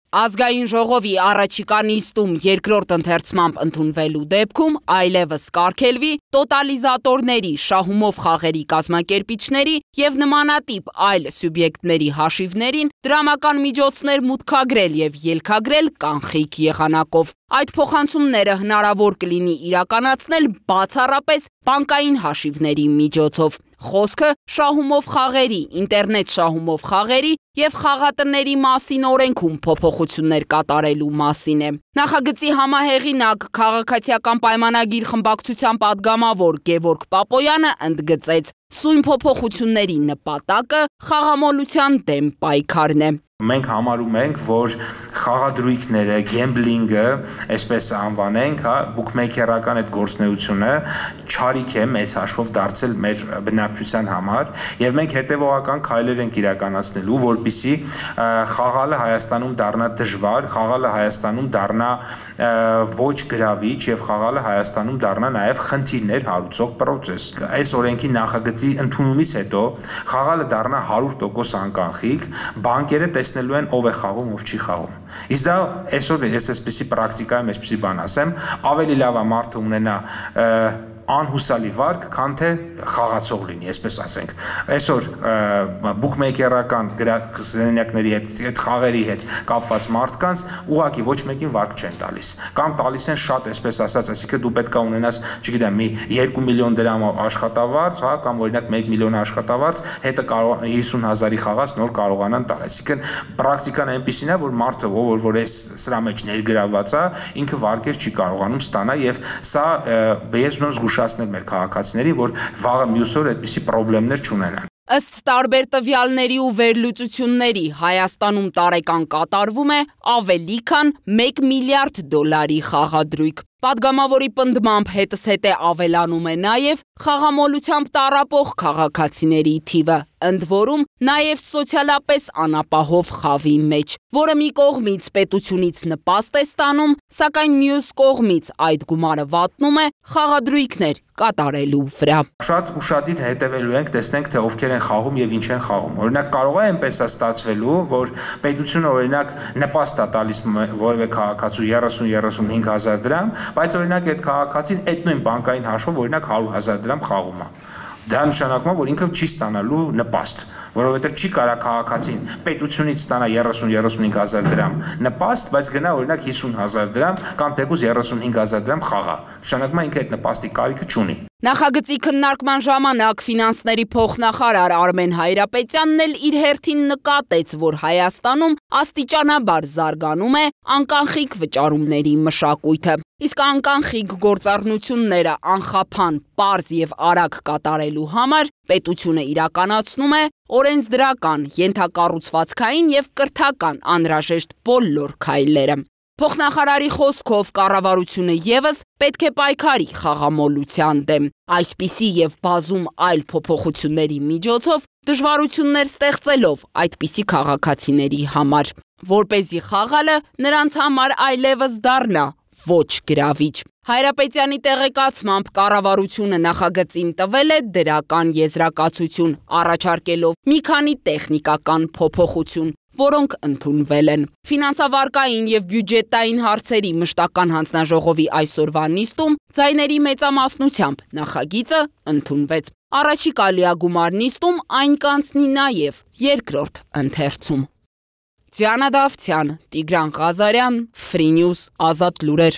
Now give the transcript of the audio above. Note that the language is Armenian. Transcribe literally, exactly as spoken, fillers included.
Ազգային ժողովի առաջիկա նիստում երկրորդ ընթերցմամբ ընդունվելու դեպքում այլևս կարգելվի տոտալիզատորների, շահումով խաղերի կազմակերպիչների և նմանատիպ այլ սուբյեկտների հաշիվներին դրամական միջոցներ մուտքագրել և ելքագրել կանխիկ եղանակով։ Այդ փոխանցումները հնարավոր կլինի իրականացնել բացառապես բանկային հաշիվների միջոցով։ Խոսքը շահումով խաղերի, ինտերնետ շահումով խաղերի և խաղատների մասին օրենքում փոփոխություններ կատարելու մասին է։ Նախագծի համահեղինակ Քաղաքացիական պայմանագիր խմբակցության պատգամավոր Գևորգ Պապոյանը ընդգծեց. Սույն փոփոխությունների նպատակը խաղամոլության դեմ պայքարն է։ Մենք համարում ենք, որ խաղադրույքները, գեմբլինգը, այսպես անվանենք, բուքմեյքերական այդ գործունեությունը չարիք է մեծ հաշվով դարձել մեր բնակչության համար, եւ մենք հետեւողական քայլեր ենք իրականացնելու, որպեսզի խաղալը Հայաստանում դառնա դժվար, խաղալը Հայաստանում դառնա ոչ գրավիչ եւ խաղալը Հայաստանում դառնա նաեւ խնդիրներ հարուցող process։ Այս օրենքի նախագծի ընդունումից հետո խաղալը դառնա հարյուր տոկոս անկանխիկ, բանկերը տեսնելու են ով է խաղում, ով չի խաղում։ Իսկ դա այսօր ես այսպեսի պրակտիկայում այսպեսի բան ասեմ, ավելի լավ է մարդը ունենա անհուսալի վարկ, քան թե խաղացող լինի, այսպես ասենք։ Այսօր բուքմեյքերական գրասենյակների հետ, այդ խաղերի հետ կապված մարդկանց ուղղակի ոչ մեկին վարկ չեն տալիս։ Կամ տալիս են շատ, այսպես ասած, այսինքն դու պետք է ունենաս, չգիտեմ, մի երկու միլիոն դրամ աշխատավարձ, հա, կամ օրինակ մեկ միլիոն աշխատավարձ, հետը կարող հիսուն հազարի խաղաց նոր կարողանան տալ։ Այսինքն պրակտիկան այնպեսին է, որ մարդը, ով որ այս սրա մեջ ներգրավված է, ինքը վարկեր չի կարողանում ստանալ եւ սա ես ուզում զգուշացնել մեր քաղաքացիներին, որ վաղը մյուս օր այդպիսի խնդիրներ չունենան։ Ըստ տարբեր տվյալների ու վերլուծությունների Հայաստանում տարեկան կատարվում է ավելի քան մեկ միլիարդ դոլարի խաղադրույք։ Պատգամավորի պնդմամբ հետզհետե ավելանում է նաև խաղամոլությամբ տառապող քաղաքացիների թիվը, ընդ որում նաև սոցիալապես անապահով խավի մեջ, որը մի կողմից պետությունից նպաստ է ստանում, սակայն մյուս կողմից այդ գումարը վատնում է խաղադրույքներ կատարելու վրա։ Շատ ուշադիր հետևելու ենք, տեսնենք թե ովքեր են խաղում եւ ինչ են խաղում։ Օրինակ կարող է այնպես ստացվելու, որ պետությունը օրինակ նպաստ է տալիս որևէ քաղաքացու երեսուն երեսունհինգ հազար դրամ, բայց օրինակ այդ քաղաքացին այդ նույն բանկային հաշվով օրինակ հարյուր հազար դրամ խաղում է։ Դա նշանակում է, որ ինքը չի ստանալու նպաստ, որովհետև չի կարա քաղաքացին պետությունից ստանա երեսուն երեսունհինգ հազար դրամ նպաստ, բայց գնա օրինակ հիսուն հազար դրամ կամ թեկուզ երեսունհինգ հազար դրամ խաղա։ Նշանակում է ինքը այդ նպաստի կարիքը չունի։ Նախագծի քննարկման ժամանակ ֆինանսների փոխնախարար Արմեն Հայրապետյանն էլ իր հերթին նկատեց, որ Հայաստանում աստիճանաբար զարգանում է անկանխիկ վճարումների մշակույթը, իսկ անկանխիկ գործառնությունները անխափան, պարզ եւ արագ կատարելու համար պետությունը իրականացնում է օրենսդրական, ենթակառուցվածքային եւ կրթական անհրաժեշտ բոլոր քայլերը։ Փոխնախարարի խոսքով կառավարությունը ևս պետք է պայքարի խաղամոլության դեմ, այսպիսի եւ բազում այլ փոփոխությունների միջոցով դժվարություններ ստեղծելով այդպիսի քաղաքացիների համար, որպեսզի խաղալը նրանց համար այլևս դառնա ոչ գրավիչ։ Հայրապետյանի տեղեկացմամբ կառավարությունը նախագծին տվել է դրական եզրակացություն, առաջարկելով մի քանի տեխնիկական փոփոխություն, որոնք ընդունվել են։ Ֆինանսավարկային եւ բյուջետային հարցերի մշտական հանձնաժողովի այսօրվա նիստում ձայների մեծամասնությամբ նախագիծը ընդունվեց։ Առաջիկա լիագումար նիստում այն կանցնի նաեւ երկրորդ ընթերցում։ Դիանա Դավթյան, Տիգրան Ղազարյան, Free News, Ազատ լուրեր։